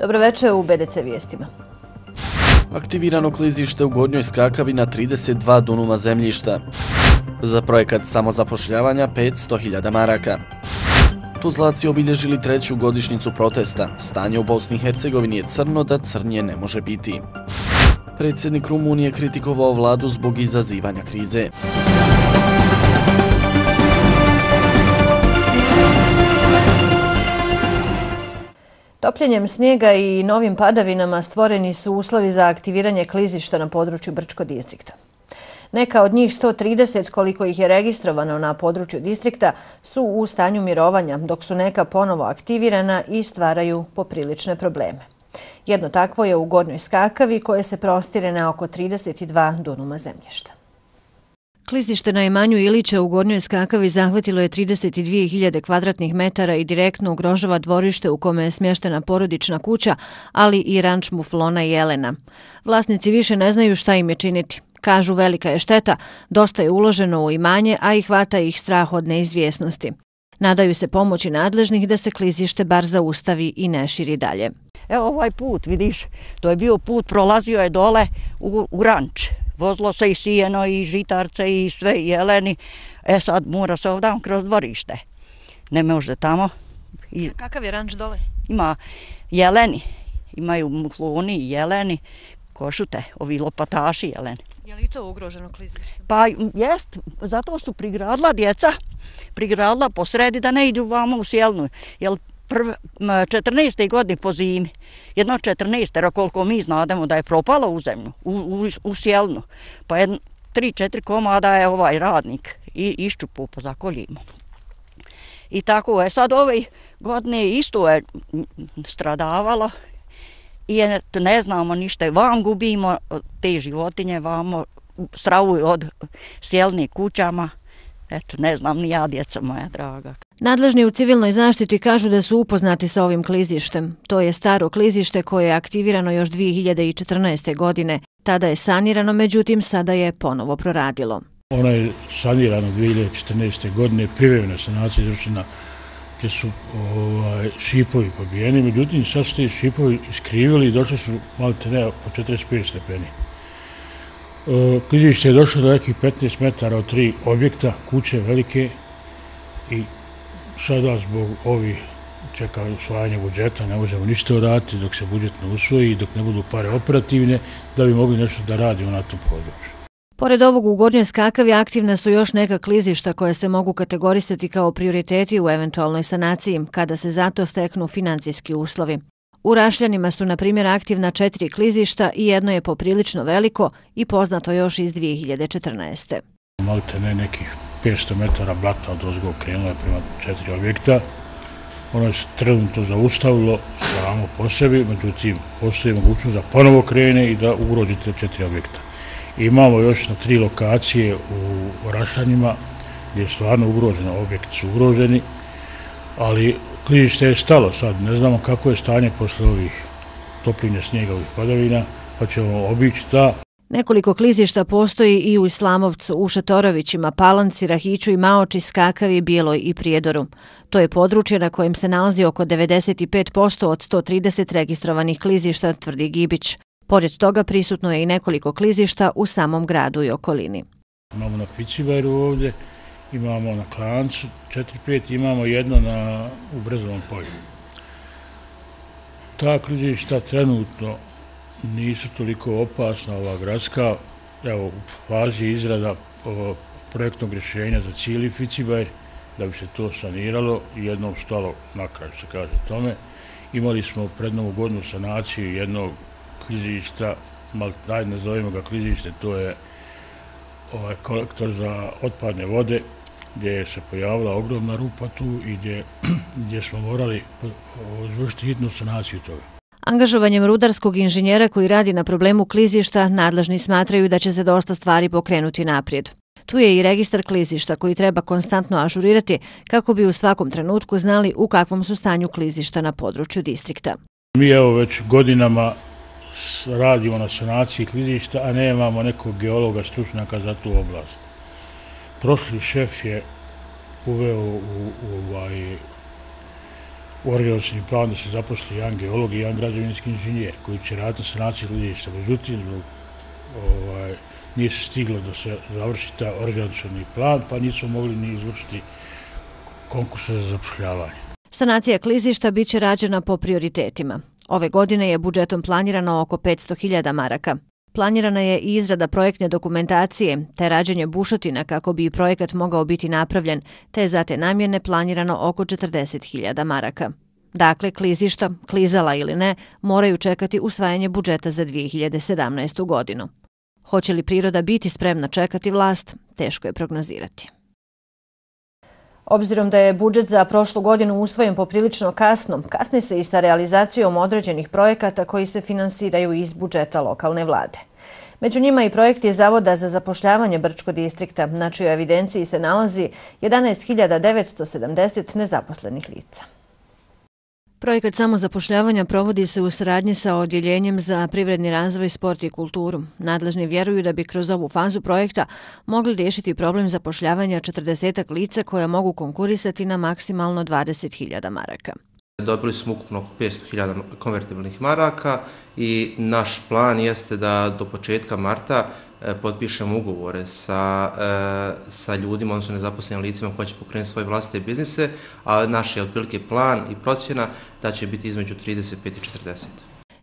Dobroveče u BDC vijestima. Aktivirano klizište u Gornjoj Skakavi na 32 dunuma zemljišta. Za projekat samozapošljavanja 500.000 maraka. Tuzlaci obilježili 3. godišnjicu protesta. Stanje u Bosni i Hercegovini je crno da crnje ne može biti. Predsjednik Rumunije kritikovao vladu zbog izazivanja krize. Topljenjem snijega i novim padavinama stvoreni su uslovi za aktiviranje klizišta na području Brčko distrikta. Neka od njih 130, koliko ih je registrovano na području distrikta, su u stanju mirovanja, dok su neka ponovo aktivirana i stvaraju poprilične probleme. Jedno takvo je u Gornjoj Skakavi, koje se prostire na oko 32 dunuma zemljišta. Klizište na imanju Ilića u Gornjoj Skakavi zahvatilo je 32.000 kvadratnih metara i direktno ugrožava dvorište u kome je smještena porodična kuća, ali i ranč muflona Jelena. Vlasnici više ne znaju šta im je činiti. Kažu, velika je šteta, dosta je uloženo u imanje, a i hvata ih strah od neizvjesnosti. Nadaju se pomoći nadležnih da se klizište bar zaustavi i ne širi dalje. Evo ovaj put, vidiš, to je bio put, prolazio je dole u ranč. Vozilo se i sijeno i žitarce i sve i jeleni. Sad mora se ovdje kroz dvorište. Ne može tamo. A kakav je ranč dole? Ima jeleni. Imaju mufloni i jeleni. Košute, ovi lopataši jeleni. Je li to ugroženo klizište? Pa jest, zato su prigradila djeca. Prigradila po sredi da ne idu vamo u Sjelnu. Jer 14. godine po zimi, jedno 14. koliko mi znademo da je propalo u zemlju, u Sjelnu, pa 3-4 komada je ovaj radnik i iščupu po zakoljima. I tako je sad ove godine isto je stradavalo i ne znamo ništa, vam gubimo te životinje, vamo stravuju od Sjelnih kućama. Eto, ne znam ni ja, djeca moja draga. Nadležni u civilnoj zaštiti kažu da su upoznati sa ovim klizištem. To je staro klizište koje je aktivirano još 2014. godine. Tada je sanirano, međutim sada je ponovo proradilo. Ono je sanirano 2014. godine, privremena sanacija izvršena gdje su šipovi pobijeni, međutim sad su te šipovi iskrivili i došli su malo te po 45 stepeni. Klizište je došlo do nekih 15 metara od 3 objekta, kuće velike i sada zbog ovih čeka usvajanja budžeta ne možemo ništa uraditi dok se budžet ne usvoji i dok ne budu pare operativne da bi mogli nešto da radimo na tom području. Pored ovog u Gornjoj Skakavi aktivna su još neka klizišta koje se mogu kategorisati kao prioriteti u eventualnoj sanaciji kada se zato steknu financijski uslovi. U Rašljanima su, na primjer, aktivna 4 klizišta i jedno je poprilično veliko i poznato još iz 2014. Malite ne nekih 500 metara blata od ozgo krenulo je prema 4 objekta. Ono se trenutno zaustavilo samo po sebi, međutim postoji mogućnost da ponovo krene i da ugrožite 4 objekta. Imamo još na 3 lokacije u Rašljanima gdje je stvarno ugroženo, objekti su ugroženi, ali klizište je stalo sad, ne znamo kako je stanje posle ovih topljenja snijega, ovih padavina, pa ćemo obići ta. Nekoliko klizišta postoji i u Islamovcu, u Šatorovićima, Palanci, Rahiću i Maoči, Skakavi, Bijeloj i Prijedoru. To je područje na kojem se nalazi oko 95% od 130 registrovanih klizišta, tvrdi Gibić. Pored toga prisutno je i nekoliko klizišta u samom gradu i okolini. Imamo na Ficibajru ovdje, imamo na Klancu 4-5, imamo jedno u Brezovom polju. Ta klizišta trenutno nisu toliko opasna, ova gradska, evo u fazi izrada projektnog rješenja za cijeli Ficibajr, da bi se to saniralo i jednom stalo na kraj, se kaže tome. Imali smo pred novu godinu sanaciju jednog klizišta, nazovimo ga klizište, to je kolektor za otpadne vode, gdje se pojavila ogromna rupa tu i gdje smo morali izvršiti hitnu sanaciju toga. Angažovanjem rudarskog inženjera koji radi na problemu klizišta, nadležni smatraju da će se dosta stvari pokrenuti naprijed. Tu je i registar klizišta koji treba konstantno ažurirati kako bi u svakom trenutku znali u kakvom su stanju klizišta na području distrikta. Mi evo već godinama radimo na sanaciji klizišta, a nemamo nekog geologa stručnjaka za tu oblast. Prošli šef je uveo u organizacioni plan da se zaposli jedan geolog i jedan građevinski inženjer koji će raditi na sanaciji klizišta. Međutim, nije se stiglo da se završi ta organizacioni plan, pa nismo mogli ni izvršiti konkurse za zapošljavanje. Sanacija klizišta bit će rađena po prioritetima. Ove godine je budžetom planirano oko 500.000 maraka. Planirana je i izrada projektne dokumentacije, te rađenje bušotina kako bi projekat mogao biti napravljen, te je za te namjene planirano oko 40.000 maraka. Dakle, klizišta, klizala ili ne, moraju čekati usvajanje budžeta za 2017. godinu. Hoće li priroda biti spremna čekati vlast, teško je prognozirati. Obzirom da je budžet za prošlu godinu usvojen poprilično kasno, kasni se i sa realizacijom određenih projekata koji se finansiraju iz budžeta lokalne vlade. Među njima i projekti Zavoda za zapošljavanje Brčkog distrikta, na čijoj evidenciji se nalazi 11.970 nezaposlenih lica. Projekat samozapošljavanja provodi se u saradnji sa Odjeljenjem za privredni razvoj, sport i kulturu. Nadležni vjeruju da bi kroz ovu fazu projekta mogli riješiti problem zapošljavanja 40 lica koja mogu konkurisati na maksimalno 20.000 maraka. Dobili smo ukupno oko 500.000 konvertibilnih maraka i naš plan jeste da do početka marta potpišemo ugovore sa ljudima, odnosno nezaposlenim licima koji će pokrenuti svoje vlastite biznise, a naš je otprilike plan i procjena da će biti između 35 i 40.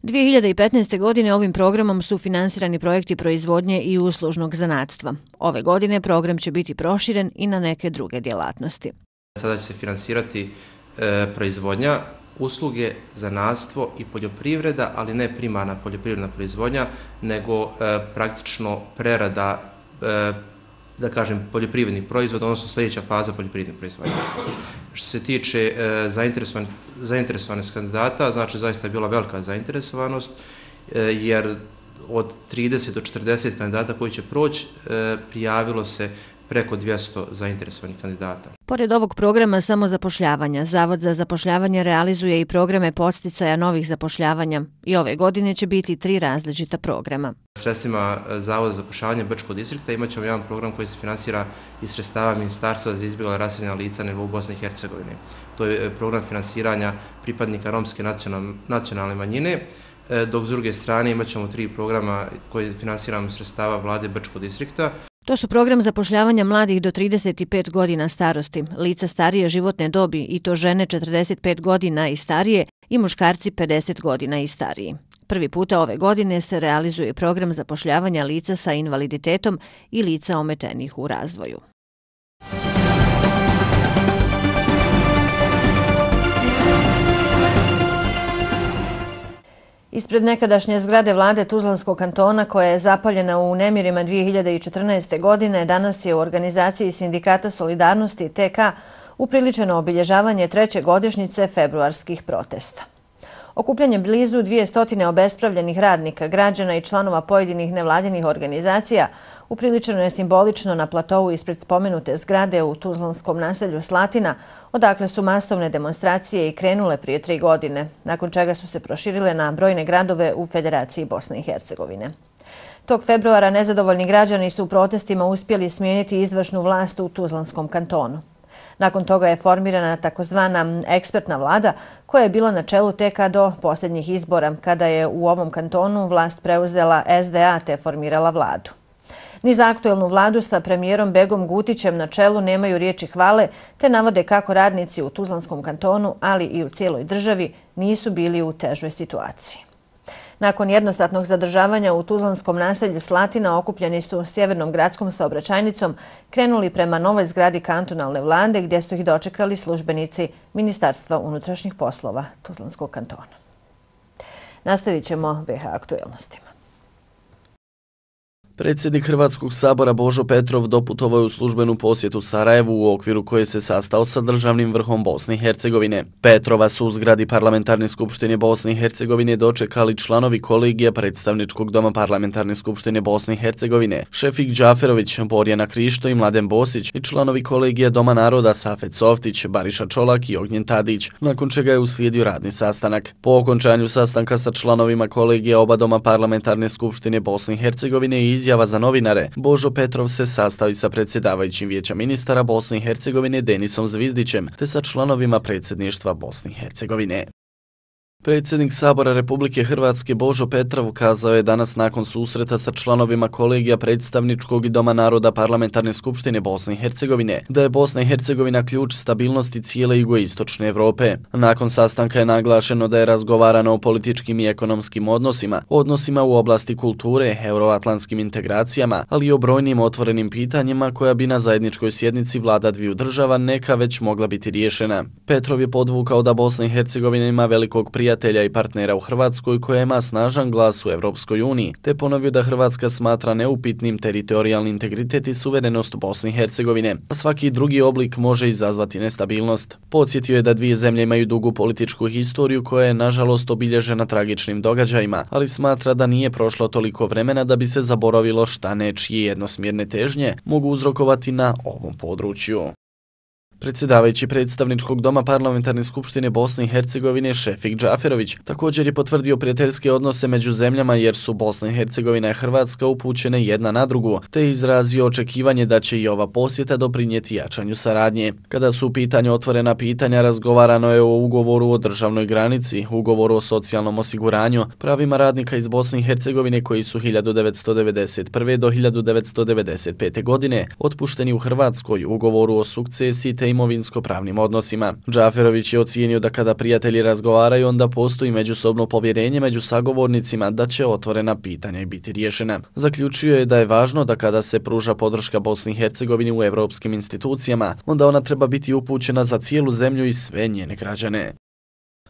2015. godine ovim programom su finansirani projekti proizvodnje i uslužnog zanatstva. Ove godine program će biti proširen i na neke druge djelatnosti. Sada će se finansirati proizvodnja, usluge, zanatstvo i poljoprivreda, ali ne primarna poljoprivredna proizvodnja, nego praktično prerada, da kažem, poljoprivrednih proizvoda, odnosno sljedeća faza poljoprivrednih proizvodnja. Što se tiče zainteresovanih kandidata, znači zaista je bila velika zainteresovanost, jer od 30 do 40 kandidata koji će proći, prijavilo se preko 200 zainteresovanih kandidata. Pored ovog programa samozapošljavanja, Zavod za zapošljavanje realizuje i programe podsticaja novih zapošljavanja i ove godine će biti 3 različita programa. Sredstvima Zavoda za zapošljavanje Brčkog distrikta imat ćemo jedan program koji se finansira iz sredstava Ministarstva za izbjegla i raseljena lica na nivou Bosne i Hercegovine. To je program finansiranja pripadnika romske nacionalne manjine, dok s druge strane imat ćemo 3 programa koje finansiramo sredstava vlade Brčkog distrikta. To su program zapošljavanja mladih do 35 godina starosti, lica starije životne dobi i to žene 45 godina i starije i muškarci 50 godina i stariji. Prvi puta ove godine se realizuje program zapošljavanja lica sa invaliditetom i lica ometenih u razvoju. Ispred nekadašnje zgrade vlade Tuzlanskog kantona, koja je zapaljena u nemirima 2014. godine, danas je u organizaciji Sindikata solidarnosti TK upriličeno obilježavanje 3. godišnjice februarskih protesta. Okupljanjem blizu 200 obespravljenih radnika, građana i članova pojedinih nevladinih organizacija upriličeno je simbolično na platovu ispred spomenute zgrade u tuzlanskom naselju Slatina, odakle su masovne demonstracije i krenule prije 3 godine, nakon čega su se proširile na brojne gradove u Federaciji Bosne i Hercegovine. Tog februara nezadovoljni građani su u protestima uspjeli smijeniti izvršnu vlast u Tuzlanskom kantonu. Nakon toga je formirana takozvana ekspertna vlada koja je bila na čelu TK do posljednjih izbora, kada je u ovom kantonu vlast preuzela SDA te formirala vladu. Ni za aktuelnu vladu sa premijerom Begom Gutićem na čelu nemaju riječi hvale, te navode kako radnici u Tuzlanskom kantonu, ali i u cijeloj državi, nisu bili u težoj situaciji. Nakon jednosatnog zadržavanja u tuzlanskom naselju Slatina okupljeni su sjevernom gradskom saobraćajnicom krenuli prema novoj zgradi kantonalne vlade gdje su ih dočekali službenici Ministarstva unutrašnjih poslova Tuzlanskog kantona. Nastavit ćemo BH aktuelnostima. Predsjednik Hrvatskog sabora Božo Petrov doputovao je u službenu posjetu Sarajevu u okviru koje se sastao sa državnim vrhom Bosne i Hercegovine. Petrova su u zgradi Parlamentarne skupštine Bosne i Hercegovine dočekali članovi kolegija Predstavničkog doma Parlamentarne skupštine Bosne i Hercegovine, Šefik Džaferović, Borjana Krišto i Mladen Bosić i članovi kolegija Doma naroda Safet Softić, Bariša Čolak i Ognjen Tadić, nakon čega je uslijedio radni sastanak. Po okončanju sastanka sa članovima kolegija oba doma Parlamentarne skupštine Bosne i Hercegovine i izjava za novinare, Božo Petrov se sastavi sa predsjedavajućim Vijeća ministara Bosne i Hercegovine Denisom Zvizdićem te sa članovima predsjedništva Bosne i Hercegovine. Predsjednik Sabora Republike Hrvatske Božo Petrov kazao je danas nakon susreta sa članovima kolegija predstavničkog i Doma naroda Parlamentarne skupštine Bosne i Hercegovine da je Bosna i Hercegovina ključ stabilnosti cijele jugoistočne Evrope. Nakon sastanka je naglašeno da je razgovarano o političkim i ekonomskim odnosima u oblasti kulture, euroatlantskim integracijama, ali i o brojnim otvorenim pitanjima koja bi na zajedničkoj sjednici vlada dviju država neka već mogla biti riješena. Petrov je podvukao da Bosna i Hercegovina ima velikog prijatelja i partnera u Hrvatskoj koja ima snažan glas u Evropskoj uniji, te ponovio da Hrvatska smatra neupitnim teritorijalni integritet i suverenost Bosne i Hercegovine, a svaki drugi oblik može izazvati nestabilnost. Podsjetio je da dvije zemlje imaju dugu političku historiju koja je nažalost obilježena tragičnim događajima, ali smatra da nije prošlo toliko vremena da bi se zaboravilo šta nečije jednosmjerne težnje mogu uzrokovati na ovom području. Predsjedavajući predstavničkog doma Parlamentarne skupštine Bosne i Hercegovine Šefik Džaferović također je potvrdio prijateljske odnose među zemljama jer su Bosna i Hercegovina i Hrvatska upućene jedna na drugu, te izrazio očekivanje da će i ova posjeta doprinijeti jačanju saradnje. Kada su u pitanju otvorena pitanja, razgovarano je o ugovoru o državnoj granici, ugovoru o socijalnom osiguranju, pravima radnika iz Bosne i Hercegovine koji su 1991. do 1995. godine otpušteni u Hrvatskoj, ugovoru o sukcesiji te imovinsko-pravnim odnosima. Džaferović je ocijenio da kada prijatelji razgovaraju, onda postoji međusobno povjerenje među sagovornicima da će otvorena pitanja i biti riješena. Zaključio je da je važno da kada se pruža podrška Bosni i Hercegovini u evropskim institucijama, onda ona treba biti upućena za cijelu zemlju i sve njene građane.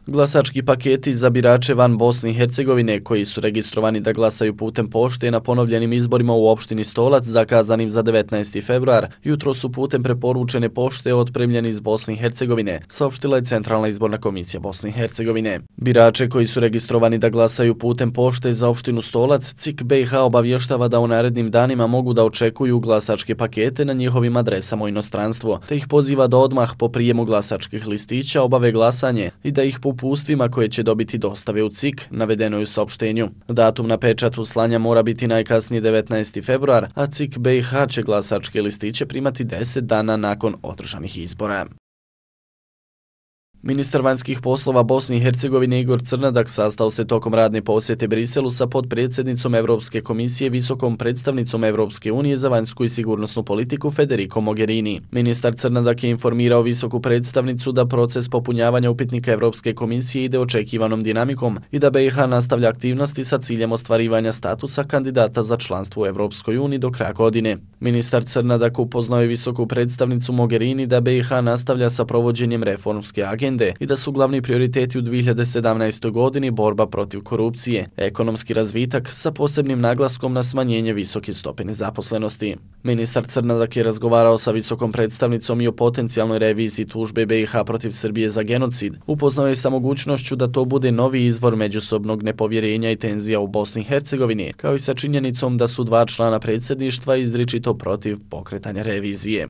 Glasački paketi za birače van Bosne i Hercegovine koji su registrovani da glasaju putem pošte na ponovljenim izborima u opštini Stolac zakazanim za 19. februar, jutro su putem preporučene pošte otpremljeni iz Bosne i Hercegovine, saopštila je Centralna izborna komisija Bosne i Hercegovine. Birače koji su registrovani da glasaju putem pošte za opštinu Stolac, CIK BiH obavještava da u narednim danima mogu da očekuju glasačke pakete na njihovim adresama u inostranstvu, te ih poziva da odmah po prijemu glasačkih listića obave glasanje i da ih po upustvima koje će dobiti dostave u CIK, navedeno je u saopštenju. Datum na pečatu slanja mora biti najkasnije 19. februar, a CIK BiH će glasačke listiće primati 10 dana nakon održanih izbora. Ministar vanjskih poslova Bosne i Hercegovine Igor Crnadak sastao se tokom radne posjete Briselu sa potpredsjednicom Evropske komisije, visokom predstavnicom Evropske unije za vanjsku i sigurnosnu politiku Federico Mogherini. Ministar Crnadak je informirao visoku predstavnicu da proces popunjavanja upitnika Evropske komisije ide očekivanom dinamikom i da BiH nastavlja aktivnosti sa ciljem ostvarivanja statusa kandidata za članstvo u Evropskoj uniji do kraja godine. Ministar Crnadak upoznao je visoku predstavnicu Mogherini da BiH nastavlja sa provođenjem reformske agende i da su glavni prioriteti u 2017. godini borba protiv korupcije, ekonomski razvitak sa posebnim naglaskom na smanjenje visoke stope nezaposlenosti. Ministar Crnadak je razgovarao sa visokom predstavnicom i o potencijalnoj reviziji tužbe BiH protiv Srbije za genocid. Upoznao je sa mogućnošću da to bude novi izvor međusobnog nepovjerenja i tenzija u Bosni i Hercegovini, kao i sa činjenicom da su dva člana predsjedništva izričito protiv pokretanja revizije.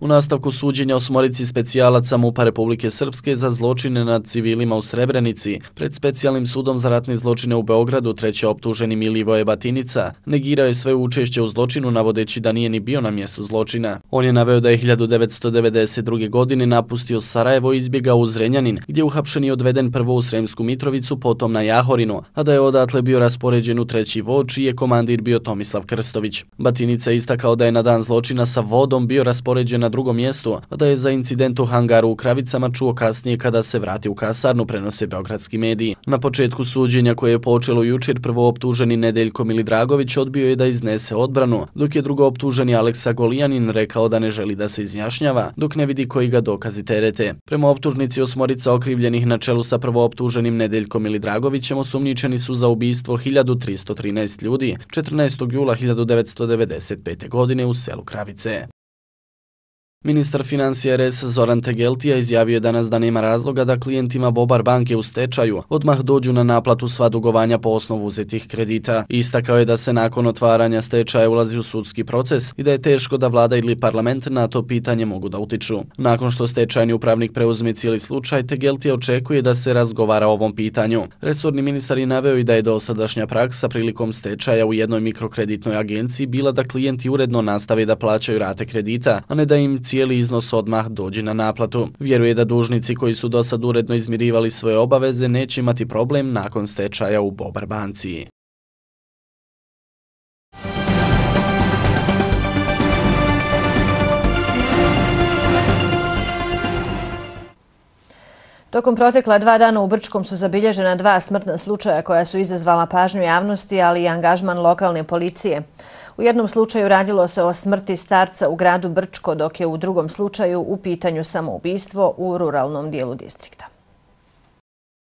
U nastavku suđenja 8 specijalaca MUP-a Republike Srpske za zločine nad civilima u Srebrenici, pred specijalnim sudom za ratne zločine u Beogradu treći optuženi Milivoje Batinica negirao je sve učešće u zločinu navodeći da nije ni bio na mjestu zločina. On je naveo da je 1992. godine napustio Sarajevo i izbjegao u Zrenjanin, gdje je uhapšen i odveden prvo u Sremsku Mitrovicu, potom na Jahorinu, a da je odatle bio raspoređen u treći vod, čiji je komandir bio Tomislav Krstović. Batinica je istakao da je na dan zločina sa vodom bio raspoređen na drugom mjestu, a da je za incident u hangaru u Kravicama čuo kasnije kada se vrati u kasarnu, prenose beogradski mediji. Na početku suđenja koje je počelo jučer, prvo optuženi Nedeljko Milidragović odbio je da iznese odbranu, dok je drugo optuženi Aleksa Golijanin rekao da ne želi da se izjašnjava, dok ne vidi koji ga dokazi terete. Prema optužnici 8 okrivljenih na čelu sa prvo optuženim Nedeljkom Milidragovićem osumnjičeni su za ubistvo 1313 ljudi 14. jula 1995. godine u selu Kravice. Ministar financija RS Zoran Tegeltija izjavio je danas da nema razloga da klijentima Bobar banke u stečaju odmah dođu na naplatu sva dugovanja po osnovu uzetih kredita. Istakao je da se nakon otvaranja stečaja ulazi u sudski proces i da je teško da vlada ili parlament na to pitanje mogu da utiču. Nakon što stečajni upravnik preuzme cijeli slučaj, Tegeltija očekuje da se razgovara o ovom pitanju. Resorni ministar je naveo i da je dosadašnja praksa prilikom stečaja u jednoj mikrokreditnoj agenciji bila da klijenti uredno nastave da plaćaju rate kredita, a ne da im cijeli iznos odmah dođe na naplatu. Vjeruje da dužnici koji su dosad uredno izmirivali svoje obaveze neće imati problem nakon stečaja u Bobar banci. Tokom protekla 2 dana u Brčkom su zabilježena 2 smrtna slučaja koja su izazvala pažnju javnosti, ali i angažman lokalne policije. U jednom slučaju radilo se o smrti starca u gradu Brčko, dok je u drugom slučaju u pitanju samoubistvo u ruralnom dijelu distrikta.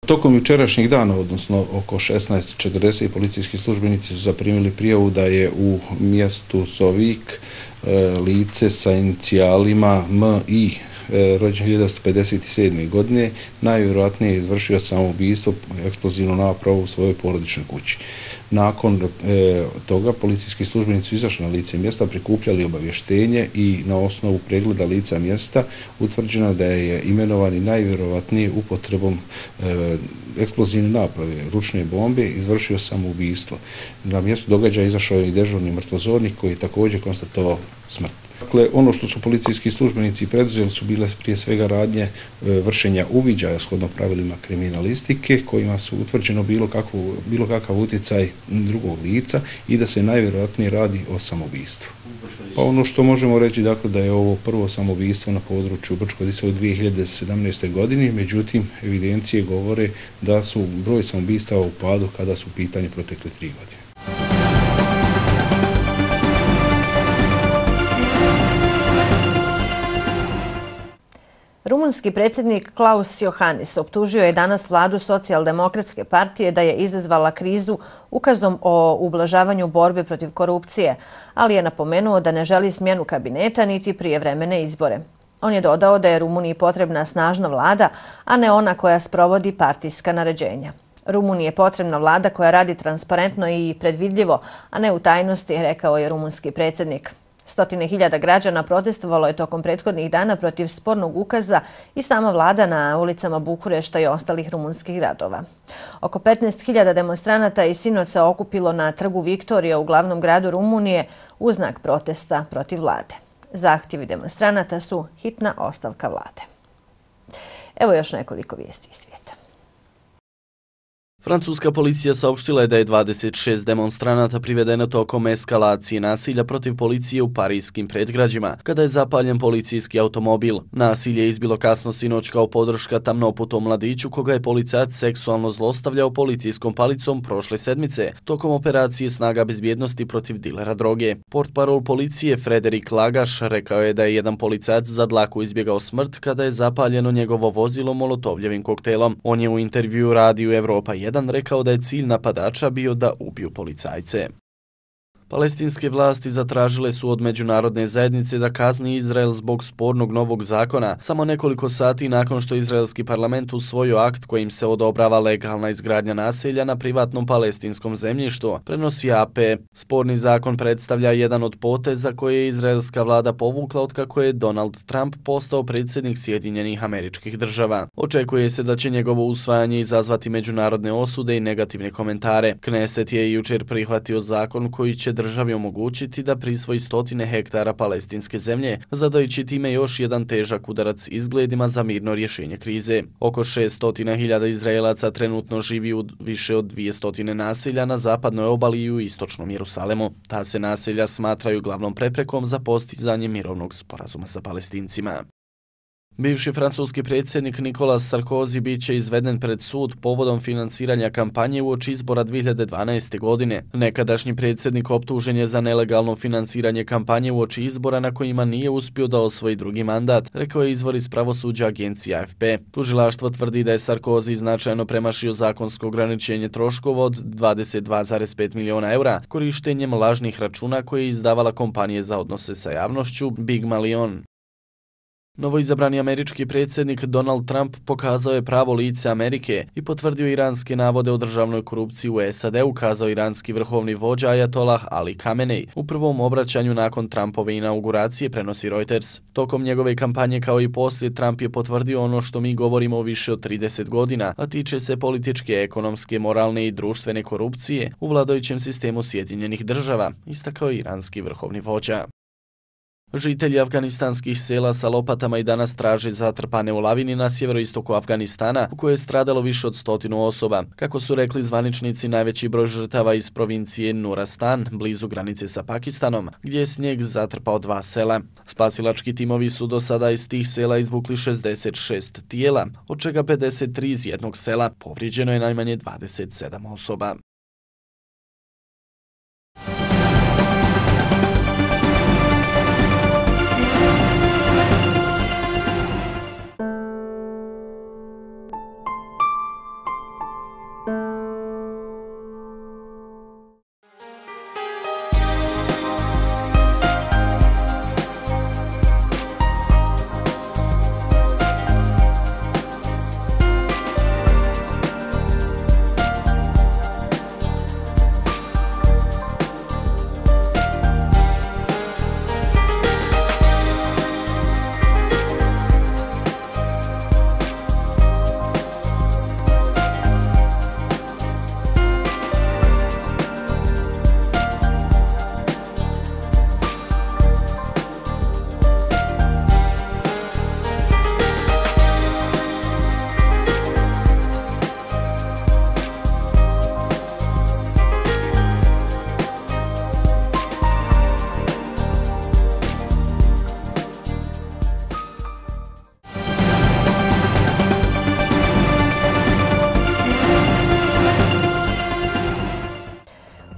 Tokom jučerašnjeg dana, odnosno oko 16:40, policijski službenici su zaprimili prijavu da je u mjestu Sovik lice sa inicijalima M.I. rođen 1957. godine, najvjerojatnije izvršio samoubistvo eksplozivnu napravu u svojoj porodičnoj kući. Nakon toga policijski službenici su izašli na lice mjesta, prikupljali obavještenje i na osnovu pregleda lica mjesta utvrđeno da je imenovani najvjerojatnije upotrebom eksplozivne naprave, ručne bombe, izvršio samoubistvo. Na mjestu događaja izašao je i dežurni mrtvozornik koji je također konstatovao smrt. Dakle, ono što su policijski službenici preduzeli su bile prije svega radnje vršenja uviđaja shodno pravilima kriminalistike kojima su utvrđeno bilo kakav utjecaj drugog lica i da se najvjerojatnije radi o samoubistvu. Pa ono što možemo reći, dakle, da je ovo prvo samoubistvo na području Brčko-Distrikta u 2017. godini, međutim evidencije govore da su broj samoubistava u padu kada su u pitanju protekle 3 godine. Rumunski predsjednik Klaus Iohannis optužio je danas vladu Socijaldemokratske partije da je izazvala krizu ukazom o ublažavanju borbe protiv korupcije, ali je napomenuo da ne želi smjenu kabineta niti prijevremene izbore. On je dodao da je Rumuniji potrebna snažna vlada, a ne ona koja sprovodi partijska naređenja. Rumuniji je potrebna vlada koja radi transparentno i predvidljivo, a ne u tajnosti, rekao je rumunski predsjednik. 100.000 građana protestovalo je tokom prethodnih dana protiv spornog ukaza i sama vlada na ulicama Bukurešta i ostalih rumunskih gradova. Oko 15.000 demonstranata i sinoca okupilo na trgu Viktorija u glavnom gradu Rumunije u znak protesta protiv vlade. Zahtjevi demonstranata su hitna ostavka vlade. Evo još nekoliko vijesti iz svijeta. Francuska policija saopštila je da je 26 demonstranata privedeno tokom eskalacije nasilja protiv policije u parijskim predgrađima, kada je zapaljen policijski automobil. Nasilje je izbilo kasno sinoć kao podrška tamnoputom mladiću koga je policajac seksualno zlostavljao policijskom palicom prošle sedmice, tokom operacije snaga bezbjednosti protiv dilera droge. Portparol policije Frederik Lagaš rekao je da je jedan policajac za dlaku izbjegao smrt kada je zapaljeno njegovo vozilo molotovljevim koktelom. On je u intervju radiju Evropa 1 rekao da je cilj napadača bio da ubiju policajce. Palestinske vlasti zatražile su od međunarodne zajednice da kazni Izrael zbog spornog novog zakona, samo nekoliko sati nakon što izraelski parlament usvojio akt kojim se odobrava legalna izgradnja naselja na privatnom palestinskom zemljištu, prenosi AP. Sporni zakon predstavlja jedan od poteza koje je izraelska vlada povukla otkako je Donald Trump postao predsjednik Sjedinjenih Američkih Država. Očekuje se da će njegovo usvajanje izazvati međunarodne osude i negativne komentare. Kneset je jučer prihvatio zakon koji će državi omogućiti da prisvoji 100 hektara palestinske zemlje, zadajući time još jedan težak udarac izgledima za mirno rješenje krize. Oko 600.000 Izraelaca trenutno živi u više od 200 naselja na zapadnoj obali i u istočnom Jerusalemu. Ta se naselja smatraju glavnom preprekom za postizanje mirovnog sporazuma sa Palestincima. Bivši francuski predsjednik Nicolas Sarkozy bit će izveden pred sud povodom finansiranja kampanje uoči izbora 2012. godine. Nekadašnji predsjednik optužen je za nelegalno finansiranje kampanje uoči izbora na kojima nije uspio da osvoji drugi mandat, rekao je izvor iz pravosuđa agencije AFP. Tužilaštvo tvrdi da je Sarkozy značajno premašio zakonsko ograničenje troškova od 22,5 miliona eura korištenjem lažnih računa koje je izdavala kompanije za odnose sa javnošću Big Malion. Novoizabrani američki predsjednik Donald Trump pokazao je pravo lice Amerike i potvrdio iranske navode o državnoj korupciji u SAD-u, kazao iranski vrhovni vođa Ajatolah Ali Khamenei u prvom obraćanju nakon Trumpove inauguracije, prenosi Reuters. Tokom njegove kampanje kao i poslije, Trump je potvrdio ono što mi govorimo više od 30 godina, a tiče se političke, ekonomske, moralne i društvene korupcije u vladajućem sistemu Sjedinjenih država, istakao je iranski vrhovni vođa. Žitelji afganistanskih sela sa lopatama i danas traže zatrpane u lavini na sjeveroistoku Afganistana, u kojoj je stradalo više od 100 osoba. Kako su rekli zvaničnici, najveći broj žrtava iz provincije Nuristan, blizu granice sa Pakistanom, gdje je snijeg zatrpao 2 sela. Spasilački timovi su do sada iz tih sela izvukli 66 tijela, od čega 53 iz jednog sela. Povrijeđeno je najmanje 27 osoba.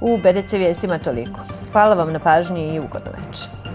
U BDC vijestima toliko. Hvala vam na pažnji i ugodnu večer.